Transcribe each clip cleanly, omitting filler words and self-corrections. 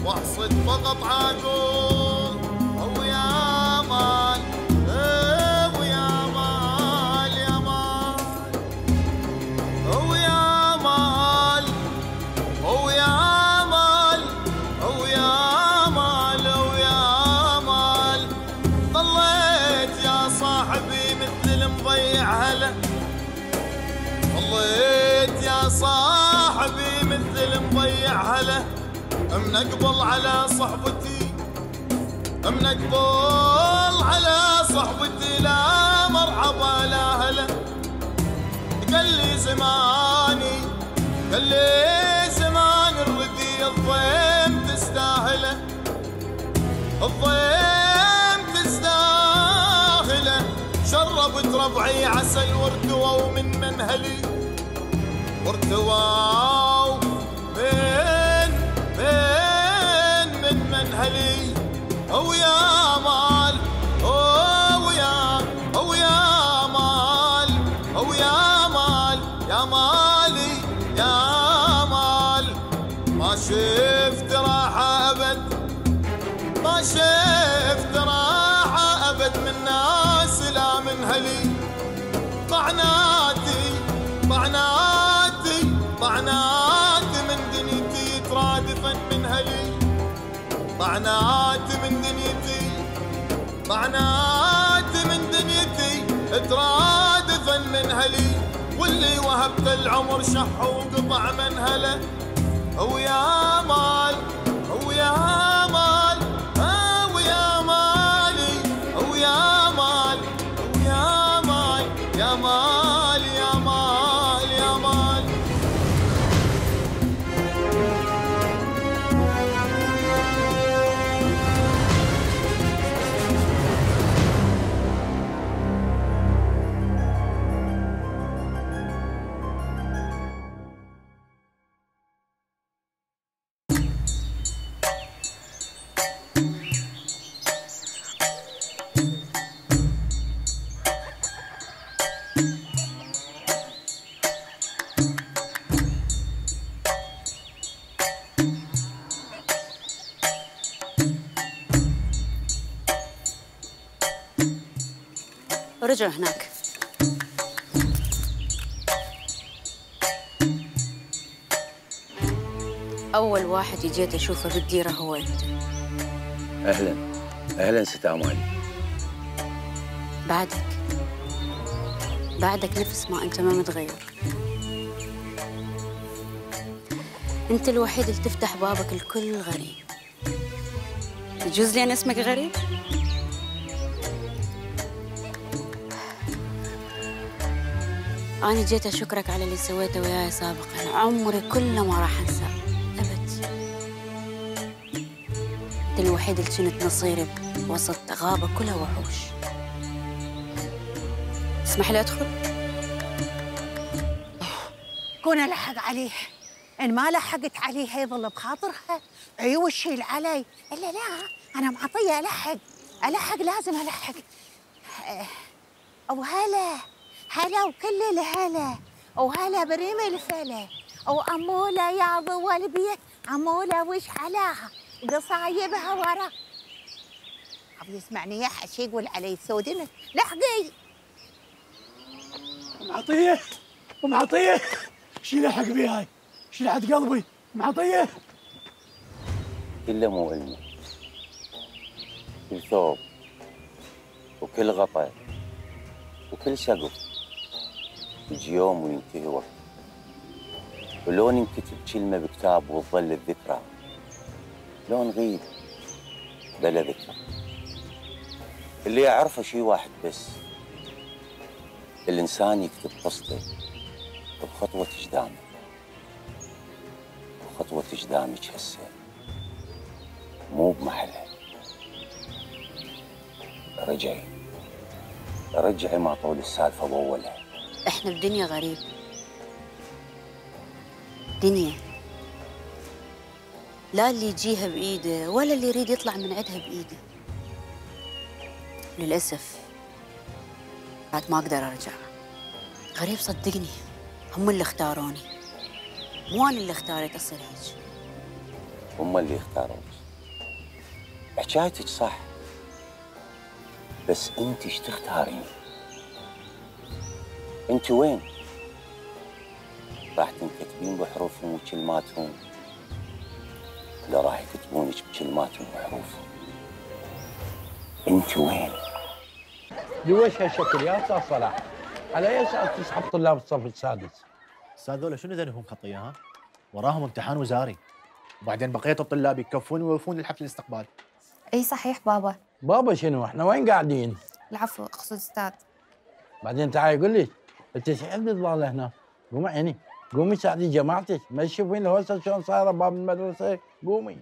واحصد فقط عاقول. ويا مال ويا مال يا مال ويا مال ويا مال ويا مال ويا مال. ضليت يا صاحبي مثل المضيع هلا، ضليت يا صاحبي مثل المضيع هلا. منقبل على صحبتي، منقبل على صحبتي، لا مرحبا لا هلا. قال لي زماني، قال لي زمان الردي الضيم تستاهله، الضيم تستاهله. شربت ربعي عسل وارتووا من منهلي، وارتووا من منهلي. ويا مال ويا مال ويا مال يا مالي يا مال. ما شفت راحة أبد، ما شفت راحة أبد من ناس لا من هلي. طعناتي طعناتي طعناتي من دنيتي ترادفا من هلي، طعناتي من دنيتي، طعناتي من دنيتي ترادفا من هلي. واللي وهبت العمر شح وقطع من هله. ويا مال ويا مال ويا مالي ويا مال ويا مال يا مال يا مال يا مال. رجعوا هناك. أول واحد جيت أشوفه بالديرة هو أنت. أهلاً أهلاً ست أمال. بعدك نفس ما أنت ما متغير. أنت الوحيد اللي تفتح بابك الكل غريب. يجوز لي أنا اسمك غريب؟ أنا جيت أشكرك على اللي سويته وياي سابقاً، عمري كله ما راح أنساه أبد. أنت الوحيد اللي كنت نصيري وسط غابة كلها وحوش. اسمح لي أدخل؟ كون ألحق عليه، إن ما لحقت عليه يظل بخاطرها عيوش شيل علي. إلا لا، أنا معطية ألحق لازم ألحق. أو هلا وكل الهلا، وهلا بريم الفلا، وأمولة يا ضوى البيت، أمولة وش حلاها قصايبها ورا. أبي يسمعني يا حشي يقول علي سودنة. لحقي معطيه ومعطيه. شي لحق بي هاي، شي لحد قلبي. معطيه كله مو علمي، كل ثوب وكل غطا وكل سقف يجي يوم وينتهي وقت، ولو ننكتب كلمة بكتاب وتظل الذكرى، لو نغيب بلا ذكرى. اللي أعرفه شي واحد بس، الإنسان يكتب قصته بخطوة قدامه، وخطوة قدامك هسه مو بمحلها. رجعي ما طول السالفة بأولها. إحنا بدنيا غريب، دنيا لا اللي يجيها بإيده ولا اللي يريد يطلع من عندها بإيده. للأسف بعد ما أقدر أرجع. غريب صدقني، هم اللي اختاروني، مو أنا اللي اختاريت أصير هيك. هم اللي اختاروك. حكايتك صح، بس انت ايش تختارين؟ انت وين؟ راح تنكتبين بحروفهم وكلماتهم، لا راح يكتبونك بكلماتهم وحروفهم؟ انت وين؟ لويش هالشكل يا استاذ صلاح؟ على اي اساس تسحب طلاب الصف السادس؟ استاذ ذولا شنو ذنبهم خطيه ها؟ وراهم امتحان وزاري، وبعدين بقيه الطلاب يكفون ويوفون للحفل الاستقبال. اي صحيح بابا. بابا شنو؟ احنا وين قاعدين؟ العفو اقصد استاذ. بعدين تعالي قول لي انت ايش عندك ضاله هنا؟ قومي عيني، قومي ساعدي جماعتك، ما تشوفين الهوسه شلون صايره باب المدرسه؟ قومي.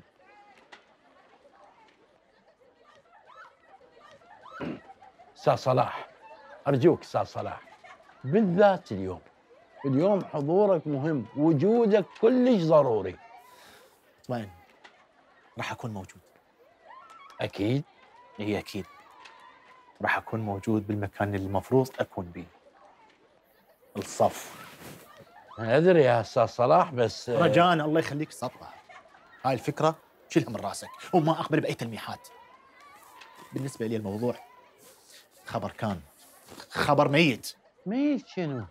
استاذ صلاح ارجوك استاذ صلاح، بالذات اليوم حضورك مهم، وجودك كلش ضروري. وين؟ راح اكون موجود. اكيد؟ اي اكيد. راح اكون موجود بالمكان اللي المفروض اكون به. الصف. انا ادري يا استاذ صلاح، بس رجاء الله يخليك سطح. هاي الفكره شيلها من راسك وما اقبل باي تلميحات. بالنسبه لي الموضوع خبر كان، خبر ميت. ميت شنو؟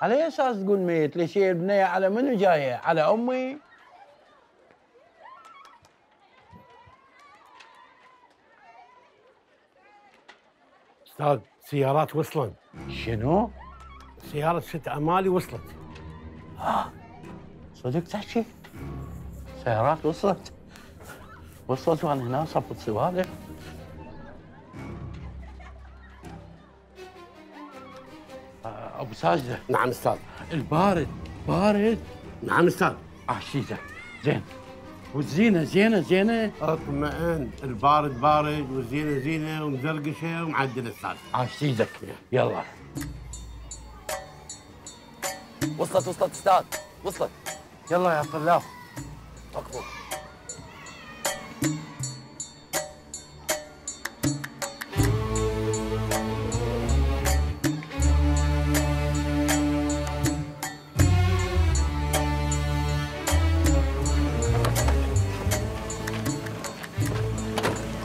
على اي اساس تقول ميت؟ ليش هي البنيه على منو جايه؟ على امي؟ استاذ سيارات وصلت. شنو؟ سيارة ست أمالي وصلت. صدق تحكي؟ سيارات وصلت وانا هنا صفت سوالف. ابو ساجده. نعم استاذ. البارد بارد. نعم استاذ. عشيزه زين، والزينه زينه. اطمئن، البارد بارد والزينه زينه ومزرقشه ومعدل استاذ. عشيزك يلا. وصلت استاذ، وصلت. يلا يا طلاب. ركبوا.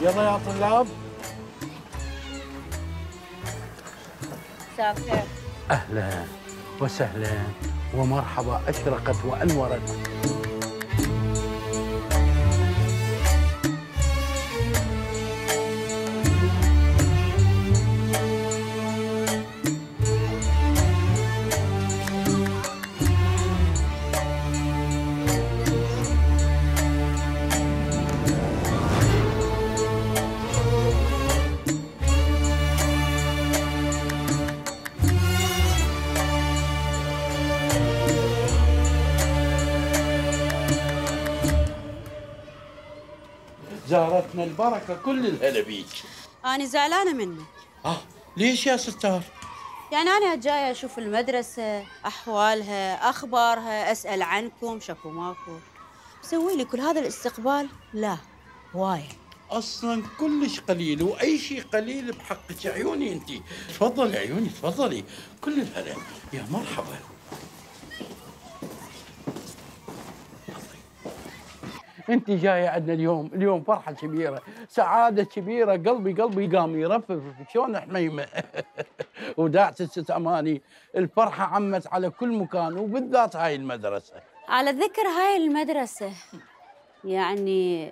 يلا يا طلاب. مساء الخير. اهلا وسهلا ومرحبا، اشرقت وانورت. زارتنا البركه، كل الهلا بيك. أنا زعلانة منك. ليش يا ستار؟ يعني أنا جاية أشوف المدرسة، أحوالها، أخبارها، أسأل عنكم، شكو ماكو. مسوي لي كل هذا الاستقبال؟ لا، وايد. اصلا كلش قليل، واي شيء قليل بحقك. عيوني انت، تفضلي عيوني تفضلي، كل الهلا. يا مرحبا. انت جايه عندنا اليوم فرحه كبيره، سعاده كبيره، قلبي قام يرفرف شلون حميمه. وداعت الست اماني، الفرحه عمت على كل مكان وبالذات هاي المدرسه. على ذكر هاي المدرسة، يعني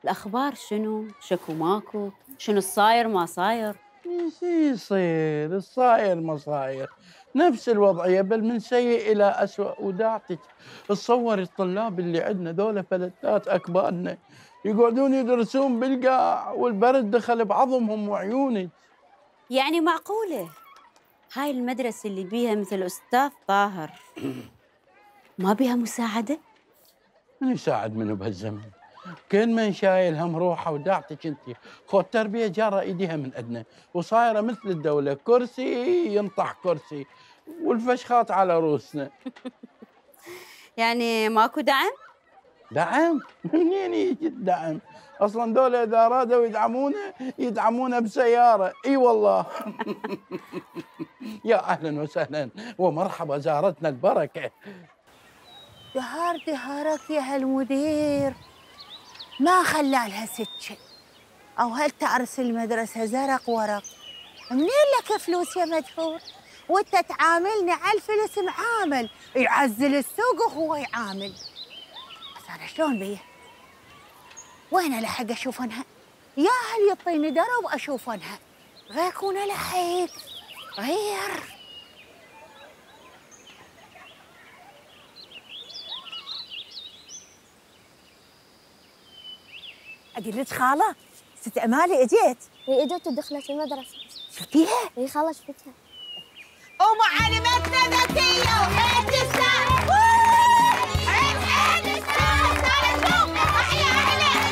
الأخبار شنو؟ شكو ماكو؟ شنو الصاير ما صاير؟ ايش يصير؟ الصاير ما صاير، نفس الوضعيه، بل من سيء الى اسوء. وداعتك تصور الطلاب اللي عندنا ذولا فلتات اكبادنا يقعدون يدرسون بالقاع والبرد دخل بعظمهم وعيونك. يعني معقولة هاي المدرسة اللي بيها مثل أستاذ طاهر ما بيها مساعدة؟ من يساعد منه بهالزمن؟ كل من شايل هم روحه. وداعتك انت خو التربيه جاره ايديها من ادنى، وصايره مثل الدوله، كرسي ينطح كرسي والفشخات على روسنا. يعني ماكو دعم؟ دعم؟ منين يجي الدعم؟ اصلا دولة اذا ارادوا يدعمونه بسياره. اي والله. يا اهلا وسهلا ومرحبا، زارتنا البركه. دهار دهارك يا هالمدير، ما خلالها سكة. أو هل تعرس المدرسة زرق ورق؟ منين لك فلوس يا مدحور؟ وانت تعاملني على الفلس معامل، يعزل السوق وهو يعامل. بس أنا شلون بيه؟ وين ألحق أشوفنها؟ يا هل يعطيني درب أشوفنها، غير كون ألحق غير. أقول لك خالة، ست أمالي إجيت. هي اجت ودخلت المدرسة. شفتيها؟ هي خالة شفتها. ومعلمتنا ذكية وحيل تستاهل. حيل حيل تستاهل. تعال شوف أحيا عليها.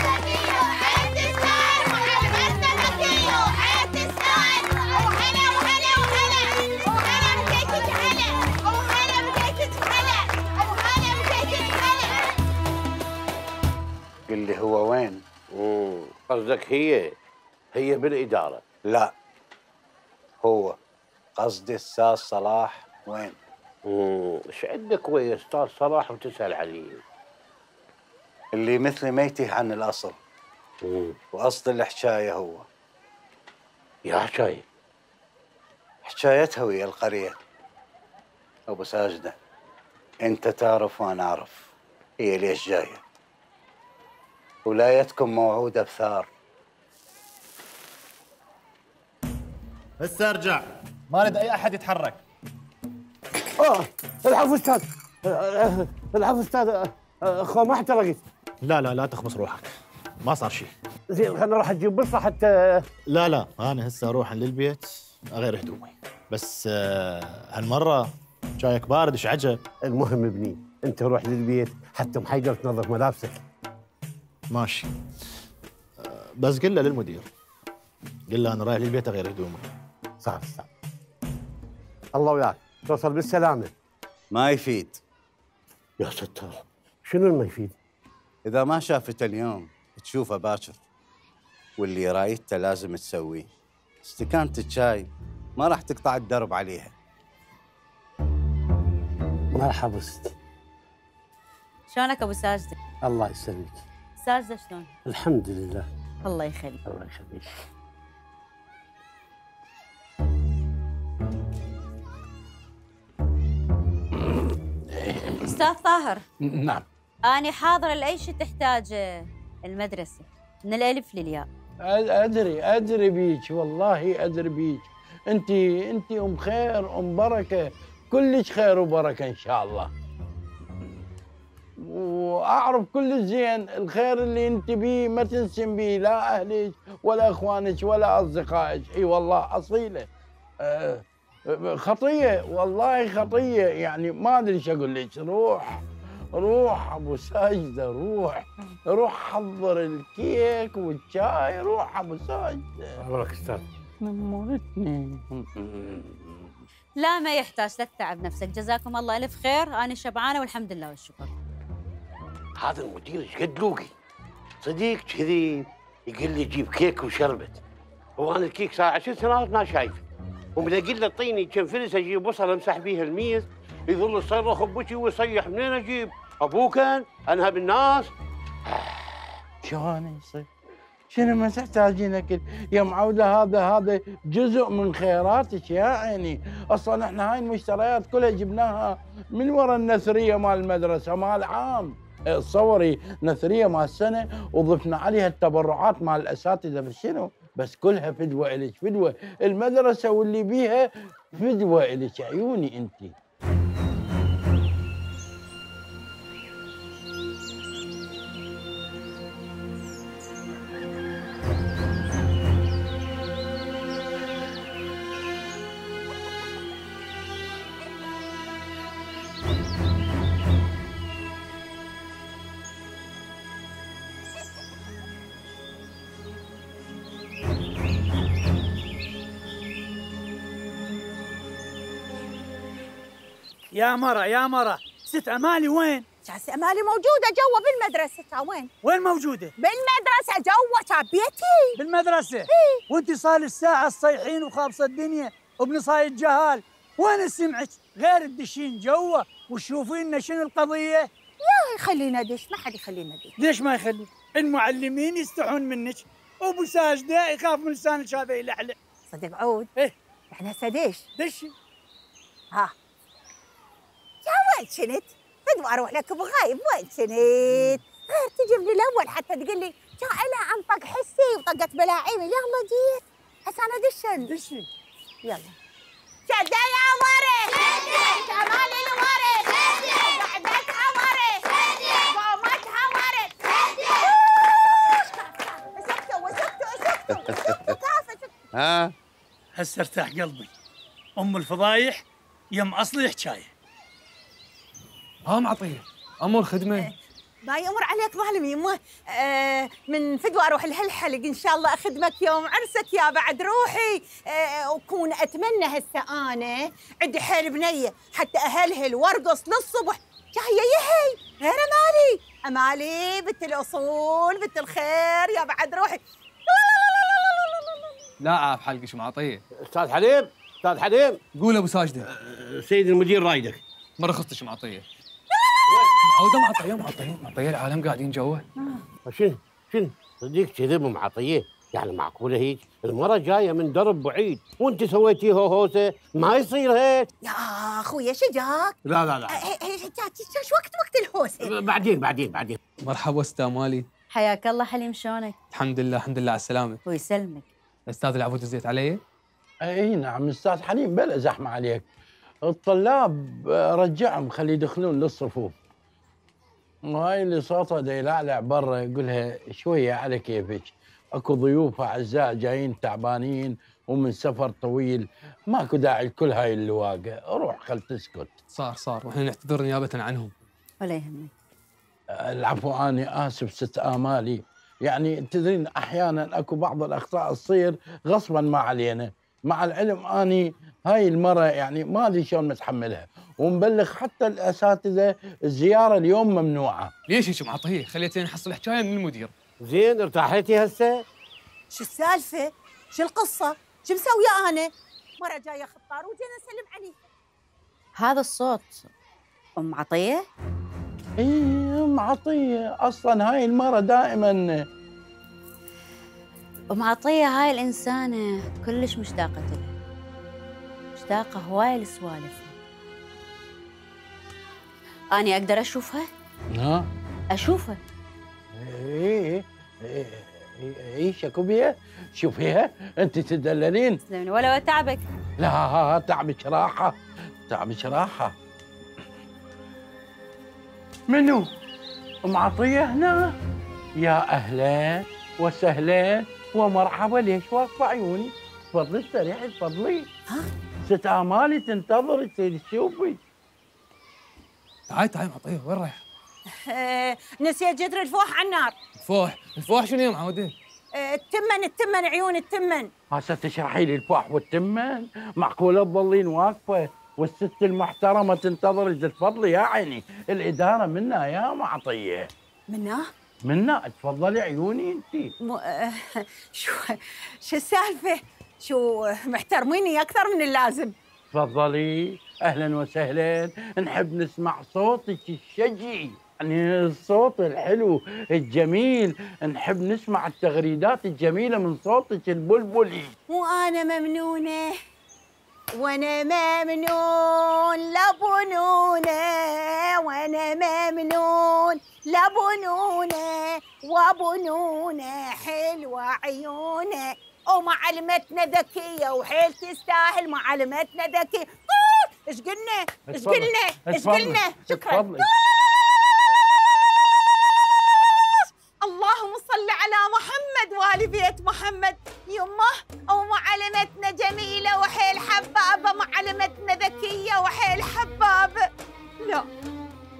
ذكية وحيل تستاهل. معلمتنا ذكية وحيل تستاهل. وهلا وهلا وهلا. وهلا بديتك هلا. وهلا بديتك هلا. وهلا بديتك هلا. قل لي هو وين؟ قصدك هي بالإدارة؟ لا، هو قصدي الأستاذ صلاح وين؟ ايش عندك ويا أستاذ صلاح وتسأل عليه؟ اللي مثلي ما يتيه عن الأصل. وأصل الحكاية هو. يا حكاية؟ حكايتها ويا القرية. أبو ساجدة، أنت تعرف وأنا أعرف هي ليش جاية. ولايتكم موعودة بثار. هسه ارجع، ما اريد اي احد يتحرك. العفو استاذ، العفو استاذ، اخو ما احترقت. لا تخبص روحك، ما صار شيء. زين خلينا نروح نجيب بصه حتى. لا انا هسه اروح للبيت اغير هدومي، بس هالمره جايك بارد ايش عجب. المهم ابني انت روح للبيت حتى ام حيدر تنظف ملابسك. ماشي، بس قل له للمدير، قل له انا رايح للبيت اغير هدومي. صح. الله وياك، توصل بالسلامه. ما يفيد. يا ستار، شنو ما يفيد؟ إذا ما شافته اليوم تشوفه باكر، واللي رايته لازم تسويه. استكانة الشاي ما راح تقطع الدرب عليها. ما حبست. شلونك ابو ساجده؟ الله يسلمك. ساجده شلون؟ الحمد لله. الله يخليك. الله يخليك. استاذ طاهر. نعم. أنا حاضرة لأي شيء تحتاجه المدرسة من الألف للياء. أدري بيك، والله أدري بيك. أنت أم خير أم بركة، كلش خير وبركة إن شاء الله. وأعرف كل زين الخير اللي أنت بيه ما تنسم بيه لا أهلك ولا إخوانك ولا أصدقائك. إي والله أصيلة. خطية والله خطية، يعني ما أدري إيش أقول لك. روح أبو ساجدة، روح حضر الكيك والشاي. روح أبو ساجدة. أمرك أستاذ. نمرتني. لا ما يحتاج، لا تتعب نفسك، جزاكم الله ألف خير. أنا شبعانة والحمد لله والشكر. هذا المدير ايش قد لوقي صديق كذي، يقول لي جيب كيك وشربت. هو انا الكيك صار 10 سنوات ما شايفه، ومن اقول له اعطيني كم فلس اجيب بصل امسح بيها الميز يظل يصرخ بوجهي ويصيح. منين اجيب؟ ابوك انهى بالناس. شلون يصير؟ شنو ما تحتاجين اكل يا معوده؟ هذا جزء من خيراتك يا عيني. اصلا احنا هاي المشتريات كلها جبناها من وراء النثريه مال المدرسه مال عام. تصوري نثريه مال السنه وضفنا عليها التبرعات مال الاساتذه. بس شنو؟ بس كلها فدوه الك، فدوه المدرسه واللي بيها فدوه الك. عيوني انت. يا مرة ست أمالي وين؟ ست أمالي موجودة جوا بالمدرسة. وين موجودة؟ بالمدرسة جوا بيتي. بالمدرسة؟ إيه. وانت صار الساعة الصيحين وخابصة الدنيا وبنصايد جهال، وين سمعك غير الدشين جوا وتشوفين لنا شنو القضيه. يا خلينا دش، ما حد يخلينا دش. ليش ما يخلي؟ المعلمين يستحون منك، وابو ساجده يخاف من لسانك هذا يلعلع. صدق عود؟ ايه احنا هسه دش. دشي. ها يا وين كنت؟ بدو اروح لك بغايب، وين كنت؟ غير تجي من الاول حتى تقول لي جائله انطق حسي وطقت بلاعيمي. يلا جيت هسه انا دشي. يلا شده يا ورث، شمال الورث، قعدتها ورث، قومتها ورث. سكتوا ها هسه ارتاح قلبي. ام الفضايح يم اصلي حكايه. ام عطيه ام الخدمه. باي امر عليك ظالم يمه. من فدوى اروح لهالحلق ان شاء الله اخدمك يوم عرسك يا بعد روحي. وكون اتمنى هسه انا عندي حيل بنيه حتى اهلهل وارقص للصبح. جايه يهي غير امالي بنت الاصول بنت الخير يا بعد روحي. لا عاف حلقك ام عطيه. استاذ حليم، استاذ حليم. قول ابو ساجده. سيد المدير رايدك. مره خصتك ام عطيه. معوده معطيه العالم قاعدين جوا. شنو صديق كذب ام عطيه؟ يعني معقوله هيك؟ المره جايه من درب بعيد وانت سويتي هوسه، ما يصير هيك. يا اخويا شجاك. لا شو وقت الهوسه؟ بعدين. مرحبا استاذ مالي. حياك الله حليم، شلونك؟ الحمد لله على السلامه. ويسلمك. استاذ العبود زيت علي؟ اي نعم استاذ حليم، بلا زحمه عليك. الطلاب رجعهم خلي يدخلون للصفوف. وهاي اللي صوتها دا يلعلع برا يقولها شويه على كيفك، اكو ضيوف اعزاء جايين تعبانين ومن سفر طويل، ماكو داعي لكل هاي اللواقه، روح خل تسكت. صار واحنا نعتذر نيابه عنهم. ولا يهمك. العفو، اني اسف ست امالي، يعني تدرين احيانا اكو بعض الاخطاء تصير غصبا ما علينا، مع العلم اني هاي المره يعني ما ادري شلون متحملها، ومبلغ حتى الاساتذه الزياره اليوم ممنوعه. ليش هيك معطيه؟ خليتين نحصل حكايه من المدير. زين ارتاحتي هسه؟ شو السالفه؟ شو القصه؟ شو مسويه انا؟ مره جايه خطار وجينا نسلم عليه. هذا الصوت ام عطيه؟ اي ام عطيه، اصلا هاي المره دائما. ام عطيه هاي الانسانه كلش مشتاقه لها، مشتاقه هواي لسوالفها. اني اقدر اشوفها؟ ها؟ اشوفها. اي شكو بيها؟ شوفيها انت تدللين. تسلمني ولا تعبك. لا تعبك راحه. منو؟ ام عطيه هنا؟ يا اهلا وسهلا ومرحبا. ليش واقفه عيوني؟ تفضلي استريحي تفضلي. ها؟ ست امالي تنتظرك تشوفي. تعال معطيه، وين رايح؟ نسيت جدر الفوح على النار. الفوح شنو يا معوده؟ التمن عيون التمن. هسه تشرحي لي الفوح والتمن؟ معقوله تظلين واقفه والست المحترمه تنتظرك؟ تفضلي يا عيني، الاداره منا يا معطيه. منا تفضلي عيوني انت. شو السالفه؟ شو محترميني اكثر من اللازم. تفضلي اهلا وسهلا، نحب نسمع صوتك الشجي، يعني الصوت الحلو الجميل، نحب نسمع التغريدات الجميله من صوتك البلبلي. وانا ممنونه وانا ممنون لبنونه، وانا ممنون لبنونه، وبنونه حلوه عيونه، ومعلمتنا ذكيه وحيل تستاهل معلمتنا ذكيه. ايش قلنا؟ شكرا. اللهم صل على محمد وآل بيت محمد. يمه ومعلمتنا جميله وحيل حبابه، معلمتنا ذكيه وحيل حبابه.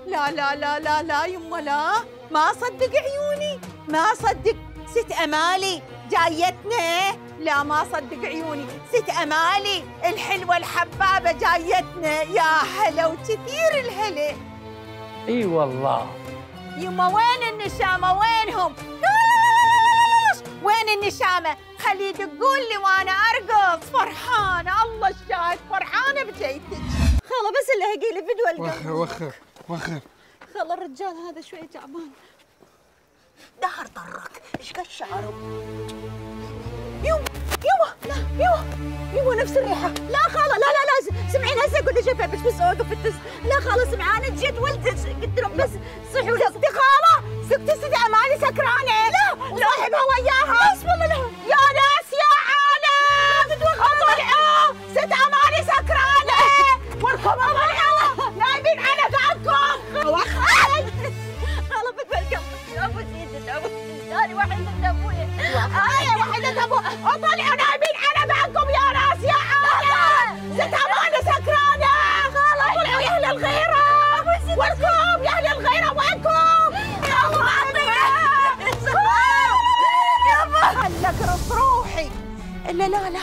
لا يمه لا، ما صدق عيوني، ما صدق. ست امالي جايتنا، لا ما صدق عيوني. ست امالي الحلوه الحبابه جايتنا، يا هلا وكثير الهلا. اي والله. يما وين النشامه؟ وينهم؟ وين النشامه؟ خلي يدقون لي وانا ارقص فرحانه. الله الشاهد فرحانه بجيتك. خاله بس اللي هيجي لي بدوى القلب. وخر خاله الرجال هذا شوي تعبان. دهر طرك، ايش قد شعره؟ لا يوه نفس الريحة. لا خاله لا سمعين هسه قلت لي شايفه بس اوقف التس. لا خاله سمعانه جيت ولدت قلت لهم بس صحوا لي. سكتي خاله سكتي اماني سكرانه. لا صاحبها وياها. بسم الله. يا ناس يا عالم اطلعوا ست اماني سكرانه واركبوا معها نايمين على بعضكم. خاله بدوى القلب. ابو سيدك ابو ثاني وحيدة ابويا. وحيدة ابويا. اطلعوا نايمين على بعضكم يا ناس يا عالم. ست اماني سكرانه. طلعوا يا اهل الغيره. وينكم يا اهل الغيره وينكم؟ يا خلك اقرص روحي. لا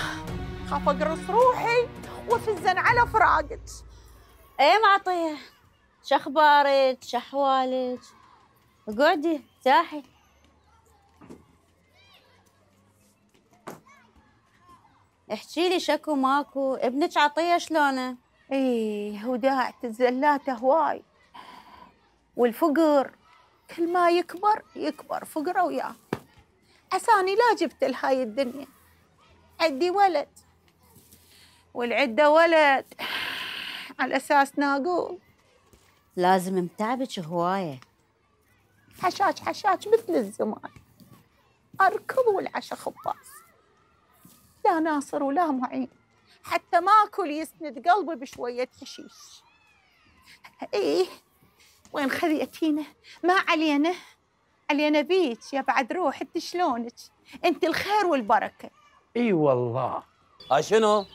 خاف اقرص روحي وافزن على فراقك. ايه معطيه، شخبارك شحوالك؟ اقعدي ارتاحي. احكي لي شكو ماكو، ابنك عطيه شلونه؟ ايه وداعة الزلات هواي والفقر كل ما يكبر فقره وياه. عساني لا جبت لهاي الدنيا. عندي ولد والعده ولد على اساس ناقول. لازم متعبك هوايه. حشاش مثل الزمان. اركض والعشا خباز. لا ناصر ولا معين، حتى ماكل يسند قلبي بشويه حشيش. ايه وين خذيتينا؟ ما علينا بيك يا بعد روح. انت شلونك؟ انت الخير والبركه. اي والله. شنو؟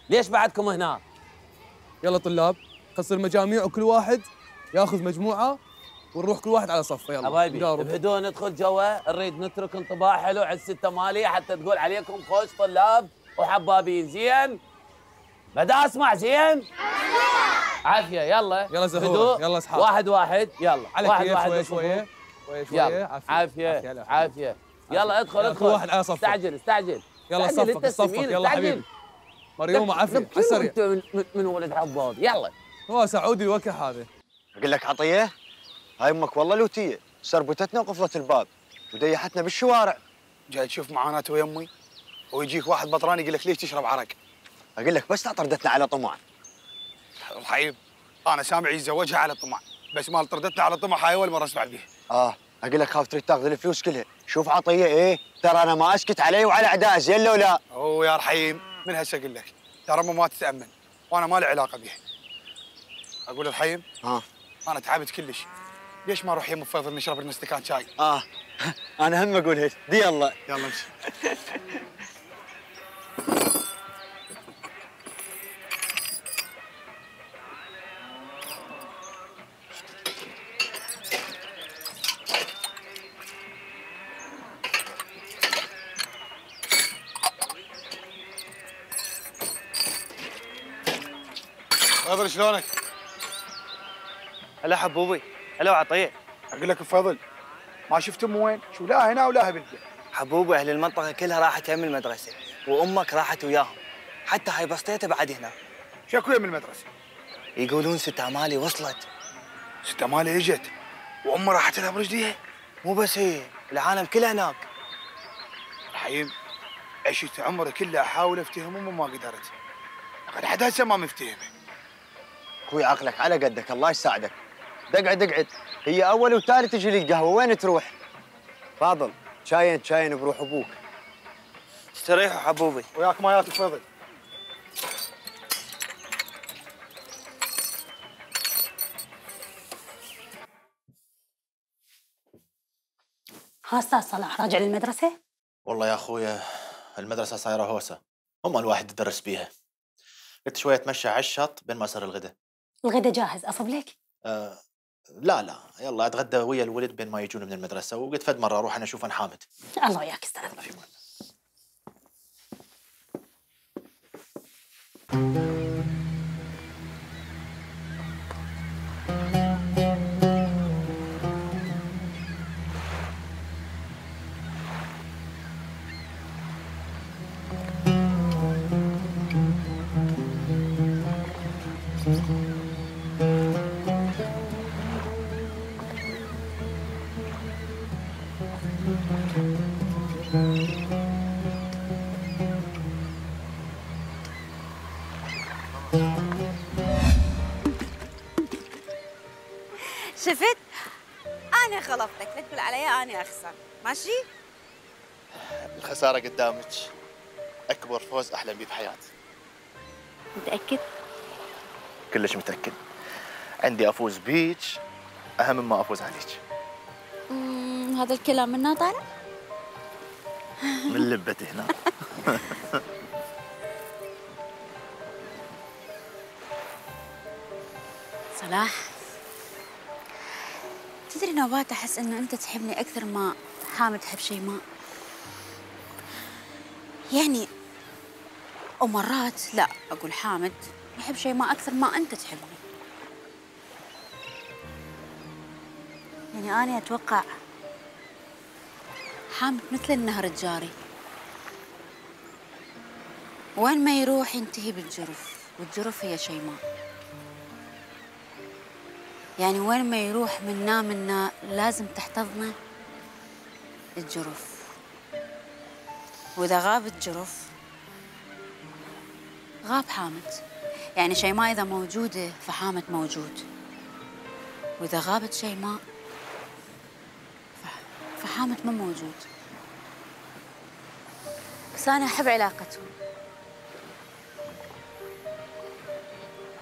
ليش بعدكم هنا؟ يلا طلاب قصر مجاميع وكل واحد ياخذ مجموعه ونروح كل واحد على صفه. يلا حبايبي بهدوء ندخل جوا، نريد نترك انطباع حلو على الستة مالية حتى تقول عليكم خوش طلاب وحبابين. زين؟ بدأ اسمع. زين؟ عافية. يلا زهور. يلا اصحاب. واحد يلا. على واحد شوية عافية. يلا ادخل كل واحد على صفه. استعجل. يلا صفك يلا حبيبي. مريوم عافية على السريع. من ولد عباد. يلا هو سعودي الوكح هذا. اقول لك عطيه، هاي امك والله لوتيه، سربتتنا وقفلت الباب وديحتنا بالشوارع. جاي تشوف معاناته يا امي ويجيك واحد بطران يقول لك ليش تشرب عرق؟ اقول لك بس لا طردتنا على طمع. رحيم انا سامع يتزوجها على طمع، بس مال طردتنا على طمع هاي اول مره اسمع بيها. اقول لك خاف تريد تاخذ الفلوس كلها. شوف عطيه ايه، ترى انا ما اسكت عليه وعلى اعدائه. زين لو لا؟ يا رحيم من هسه اقول لك ترى ما تتامن وانا ما لي علاقه بيها. اقول رحيم انا تعبت كلش، ليش ما نروح يم فيصل نشرب لنا استكان شاي؟ انا هم اقول هيك. دي يلا امشي. فيصل شلونك؟ هلا حبوبي. هلا وعطيه. اقول لك فضل ما شفت امه وين؟ شو لا هنا ولا بالبيت؟ حبوبي اهل المنطقه كلها راحت يم المدرسه وامك راحت وياهم، حتى هاي بسطيته بعد هنا. شكو يم المدرسه؟ يقولون ست امالي وصلت. ست امالي اجت وامه راحت لها برجليها؟ مو بس هي، العالم كله هناك. رحيم عشت عمري كله احاول افتهم امه ما قدرت. لحد هسه ما مفتهمه. اخوي عقلك على قدك الله يساعدك. اقعد هي اول وثالث تجي لي القهوه وين تروح؟ فاضل شاين بروح ابوك. استريحوا حبوبي. وياك مايات فضل. استاذ صلاح راجع للمدرسه؟ والله يا اخويا المدرسه صايره هوسه، هم الواحد يدرس بيها. قلت شويه اتمشى على الشط بين ما يصير الغداء. الغداء جاهز اصب لك؟ لا يلا اتغدى ويا الولد بين ما يجون من المدرسه، وقلت فد مره اروح انا اشوف عن حامد. الله وياك استاذ. Mm-hmm. شفت؟ أنا غلطتك، لا تقول علي أنا أخسر، ماشي؟ الخسارة قدامك أكبر فوز أحلم بيه بحياتي. متأكد؟ كلش متأكد. عندي أفوز بيك أهم مما أفوز عليك. هذا الكلام منها طالع؟ من لبتي هنا. صلاح، تدري نوبات أحس إنه أنت تحبني أكثر ما حامد تحب شيماء. يعني ومرات لا أقول حامد يحب شيماء أكثر ما أنت تحبني. يعني أنا أتوقع حامد مثل النهر الجاري، وين ما يروح ينتهي بالجرف، والجرف هي شيماء. يعني وين ما يروح منا لازم تحتضنه الجرف، وإذا غاب الجرف غاب حامد. يعني شيماء إذا موجودة فحامد موجود، وإذا غابت شيماء فحامد ما موجود. بس أنا أحب علاقتهم.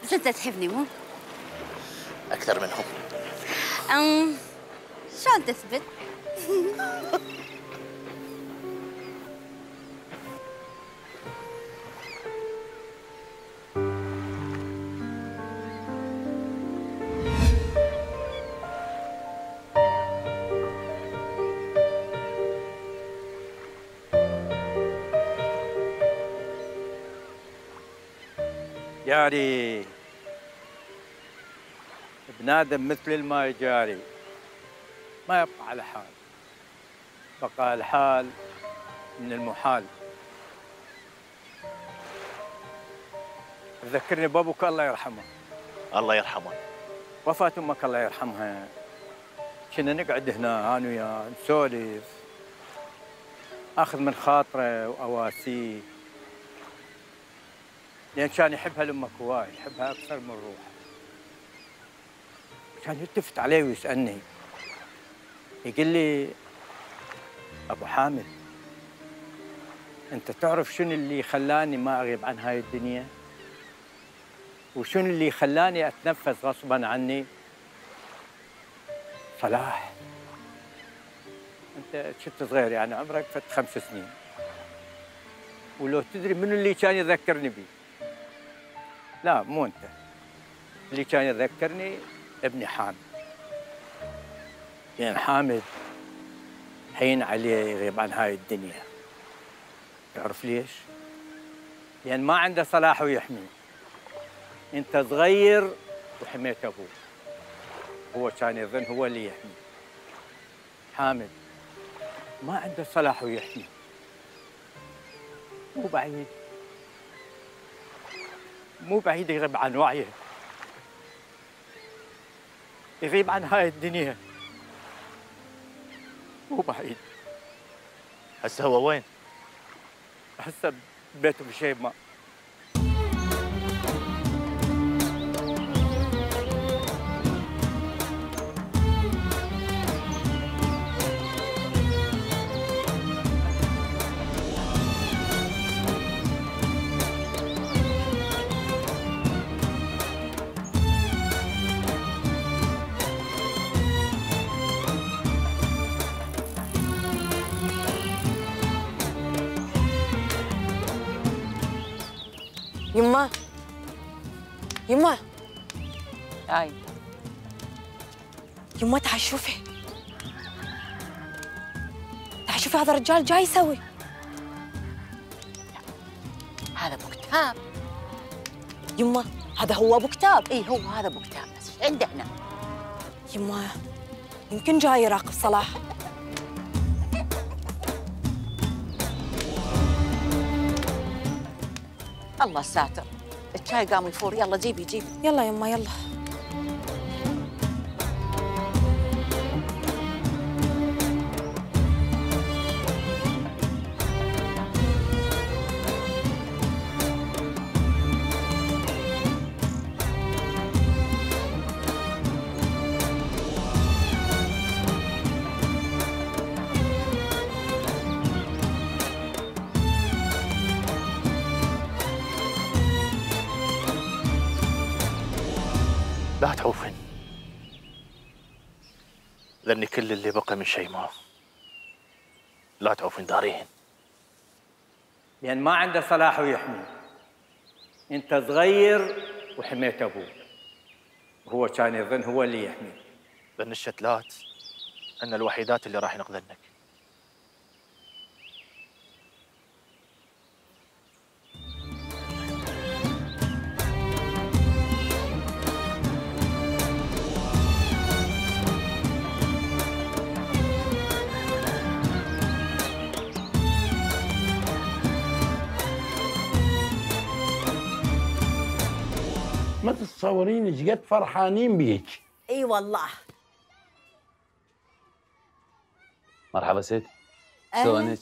بس أنت تحبني مو؟ أكثر منهم. شلون تثبت؟ جاري بنادم مثل الماء جاري، ما يبقى على حال، بقى الحال من المحال. تذكرني بابوك الله يرحمه. الله يرحمه. وفاة امك الله يرحمها، كنا نقعد هنا انا وياه نسولف، اخذ من خاطره واواسيه، لان كان يحبها لامك هواي، يحبها اكثر من روحه. كان يلتفت علي ويسالني، يقول لي ابو حامد انت تعرف شنو اللي خلاني ما اغيب عن هاي الدنيا؟ وشنو اللي خلاني اتنفس غصبا عني؟ صلاح انت كنت صغير، يعني عمرك فت 5 سنين، ولو تدري منو اللي كان يذكرني بيه؟ لا مو انت، اللي كان يذكرني ابني حامد. يعني حامد حين عليه يغيب عن هاي الدنيا. تعرف ليش؟ لأن ما عنده صلاح ويحمي. أنت صغير وحميت أبوه، هو كان يظن هو اللي يحمي. حامد ما عنده صلاح ويحمي، مو بعيد يغيب عن وعيه، يغيب عن هاي الدنيا، مو بعيد. هسه هو وين؟ هسه ببيته بشيماء. يما يما هاي يما تعال شوفي، تعال شوفي هذا الرجال جاي يسوي. هذا ابو كتاب. يما هذا هو ابو كتاب. اي هو هذا ابو كتاب، بس ايش عنده هنا؟ يما يمكن جاي يراقب صلاح. الله ساتر، الشاي قام يفور، يلا جيبي جيبي. يلا يما يلا. ذني كل اللي بقى من شيماء لا تعوفين داريهن، لأن ما عنده صلاح ويحمي. أنت صغير وحميت أبوك، وهو كان يظن هو اللي يحميك. ذن الشتلات أن الوحيدات اللي راح ينقذنك. ما تتصورين ايش قد فرحانين بيك. اي والله. مرحبا ست. أهلاً. شلونك؟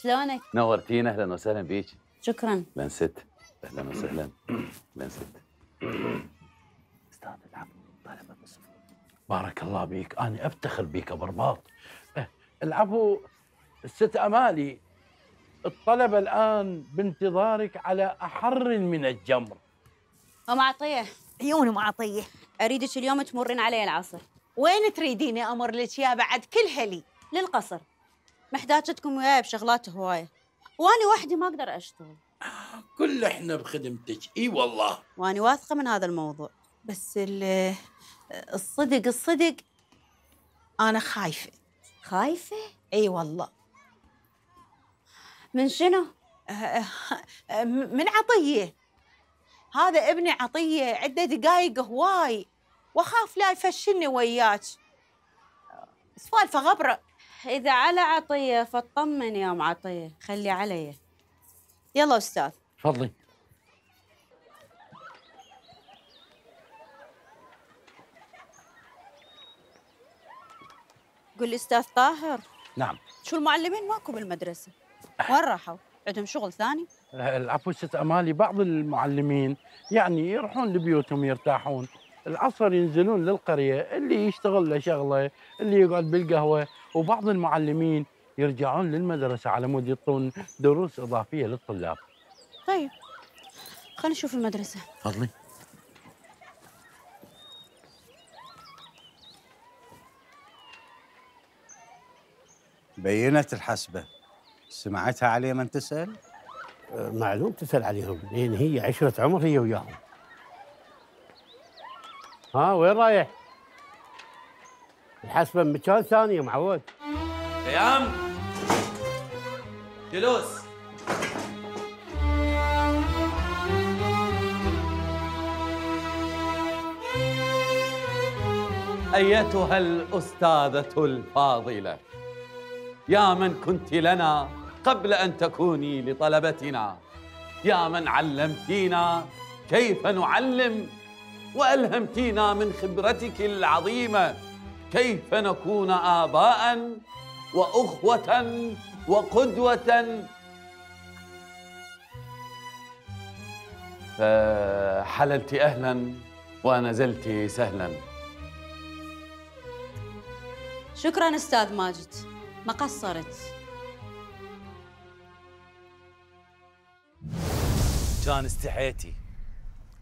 شلونك؟ نورتينا، اهلا وسهلا بيك. شكرا. اهلا ست. اهلا وسهلا. اهلا ست. استاذ العفو، طلبة بالصفوف. بارك الله بيك، انا افتخر بيك ابو رباط. العفو الست امالي، الطلبه الان بانتظارك على احر من الجمر. ام عطيه. عيون ام عطيه. اريدك اليوم تمرين علي العصر. وين تريديني امر لك يا بعد كل هلي؟ للقصر. محتاجتكم وياي بشغلات هوايه، واني وحدي ما اقدر اشتغل. كل احنا بخدمتك. اي والله. واني واثقه من هذا الموضوع. بس الصدق انا خايفه. خايفه؟ اي والله. من شنو؟ من عطيه. هذا ابني عطيه عنده دقايق هواي، واخاف لا يفشلني وياك. سوالفه غبره. اذا على عطيه فاطمن يا ام عطيه، خلي علي. يلا استاذ. تفضلي. قل لي استاذ طاهر. نعم. شو المعلمين ماكو بالمدرسه؟ وين راحوا؟ عندهم شغل ثاني؟ العفو ست امالي، بعض المعلمين يعني يروحون لبيوتهم يرتاحون، العصر ينزلون للقريه، اللي يشتغل له شغله، اللي يقعد بالقهوه، وبعض المعلمين يرجعون للمدرسه على مود يعطون دروس اضافيه للطلاب. طيب خلينا نشوف المدرسه. تفضلي. بينت الحسبه، سمعتها عليه من تسال؟ معلوم تسال عليهم، لان هي عشره عمر هي وياهم. ها وين رايح؟ الحسبه بمكان ثاني يا معود. قيام. جلوس. أيتها الأستاذة الفاضلة، يا من كنت لنا قبل أن تكوني لطلبتنا، يا من علمتينا كيف نعلم، وألهمتينا من خبرتك العظيمة كيف نكون آباء وأخوة وقدوة. فحللت أهلا ونزلت سهلا. شكرا استاذ ماجد، ما قصرت. كان استحيتي.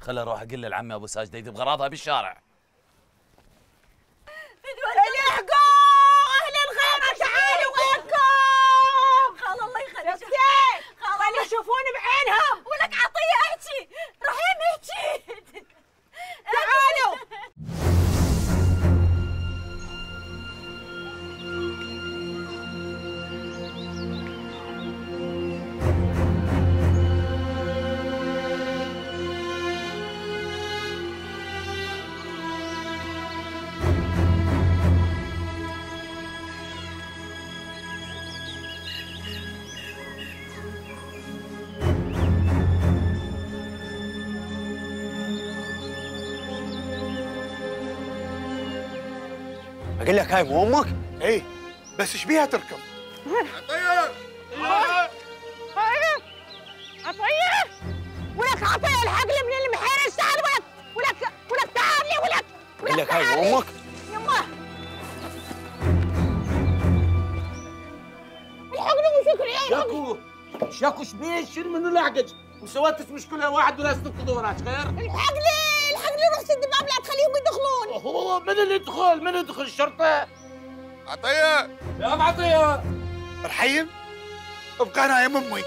خل اروح اقول لعمي ابو ساجده يذب غراضها بالشارع. الحقوا اهل الغيمه، تعالوا وينكم. خال الله يخليك. خلي يشوفون بعينهم. ولك عطيه احكي، رحيم احكي. تعالوا. اقول لك هاي مو امك؟ ايه بس ايش بيها تركب؟ عطيه عطيه ولك عطيه الحقني من المحير السعد. ولك تعال لي ولك. اقول لك هاي مو امك؟ يمه الحقني وشكري. شاكو شاكو ايش بيه؟ شيل منه لحقك وسويتش مشكله واحد ولا تنقذوا وراك خير؟ الحقني روح سد الباب لا تخليهم يدخلون. هو من اللي يدخل؟ من يدخل؟ الشرطه؟ عطيه يا ام عطيه. رحيم ابقى انا يا امي.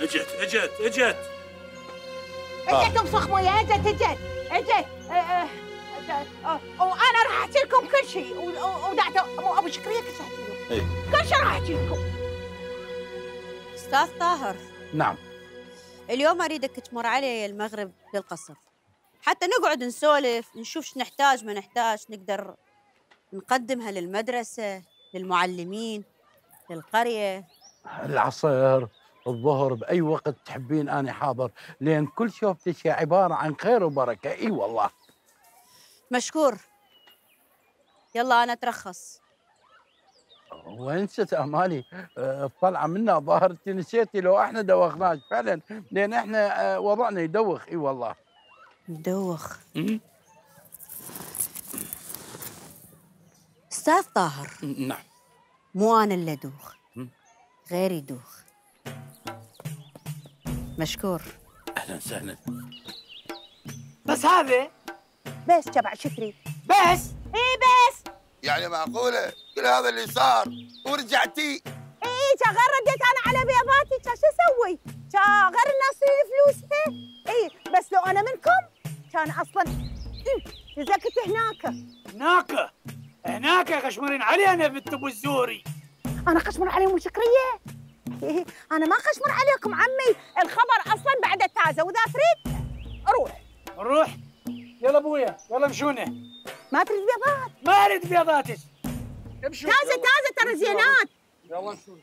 اجت اجت بصخ مويه، اجت وانا راح احكي لكم كل شيء ودعت ابو شكريه كل شيء احكي لكم. كل شيء راح احكي لكم. استاذ طاهر. نعم. اليوم اريدك تمر علي المغرب للقصر حتى نقعد نسولف، نشوف شو نحتاج ما نحتاج، نقدر نقدمها للمدرسه، للمعلمين، للقريه. العصر، الظهر، باي وقت تحبين انا حاضر، لان كل شوفتك عباره عن خير وبركه. اي والله. مشكور. يلا انا اترخص. وين ست امالي؟ الطلعه منا ظاهر انت نسيتي لو احنا دوخناك فعلا، لان احنا وضعنا يدوخ. اي والله. يدوخ. استاذ طاهر. نعم. مو انا اللي ادوخ، غيري يدوخ. مشكور. اهلا وسهلا. بس هذا بس تبع شكري. بس بس يعني معقوله كل هذا اللي صار ورجعتي؟ كان غير رديت انا على بيضاتي، كان شو اسوي؟ كان غير الناس فلوسها. بس لو انا منكم كان اصلا نزكت هناك غشمرين علينا بنت ابو الزوري. انا خشمر عليهم شكريه؟ انا ما خشمر عليكم عمي، الخبر اصلا بعد تازه، واذا تريد روح. يلا ابويا يلا مشونا. ما تريد بيضات؟ ما اريد بيضاتك. امشوا. تازه ترى زينات. يلا نشوف.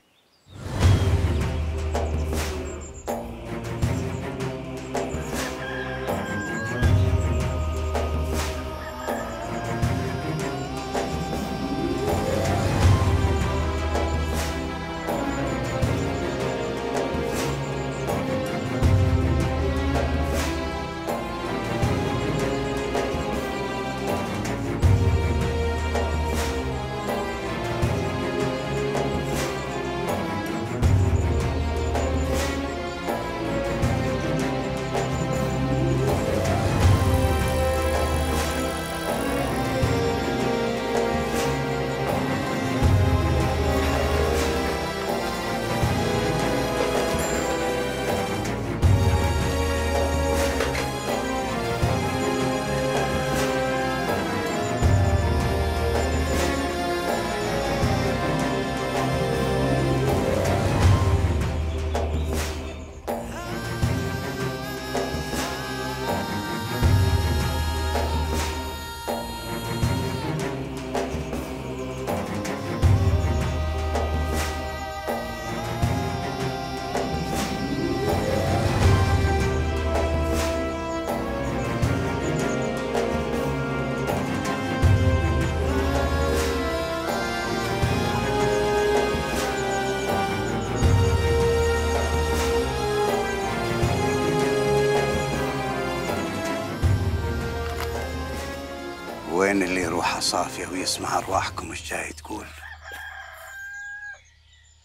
وين اللي روحه صافية ويسمع أرواحكم إيش جاي تقول؟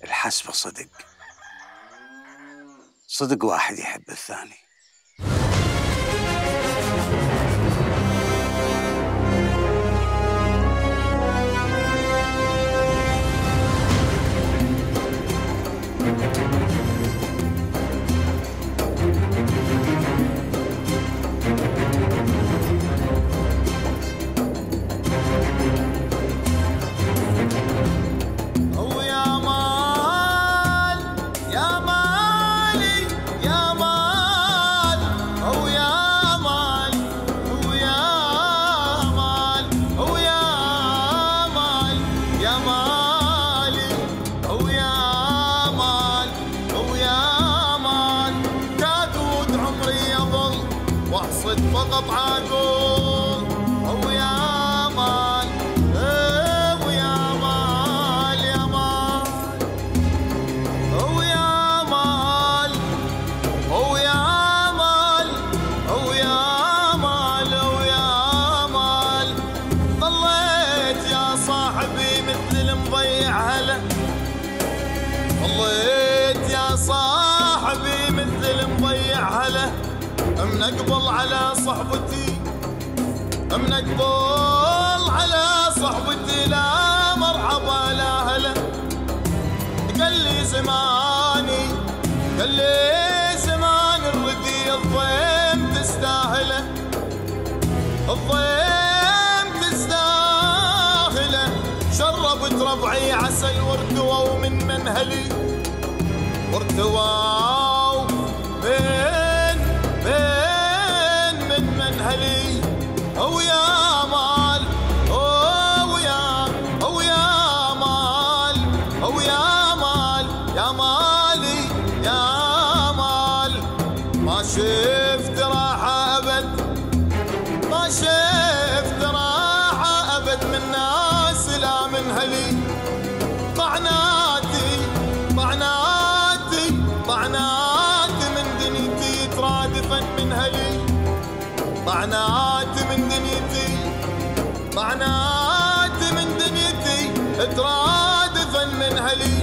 الحسبة صدق واحد يحب الثاني. فقط عقول ويا مال ويا مال يا مال ويا مال ويا مال ويا مال ويا مال ضليت يا صاحبي مثل المضيع هلا ضليت يا صاحبي مثل المضيع هلا منقبل على صحبتي منقبل على صحبتي لا زماني قال لي زمان الردي الضيم تستاهله الضيم تستاهله شربت ربعي عسل وارتووا من منهلي وارتووا من منهلي ويا مال ويا مال ويا مال يا مالي يا مال ما شفت راحة أبد ما شفت راحة أبد من ناس لا من هلي طعناتي طعناتي طعناتي من دنيتي ترادفا من هلي طعناتي من دنيتي طعناتي من دنيتي ترادفا من هلي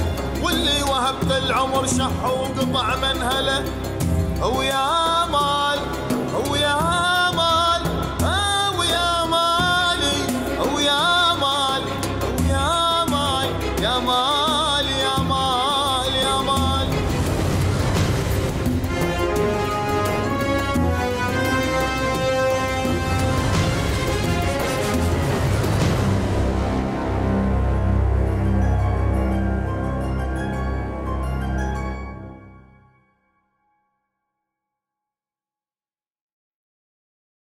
واللي وهبت العمر شح وقطع منهله ويا ما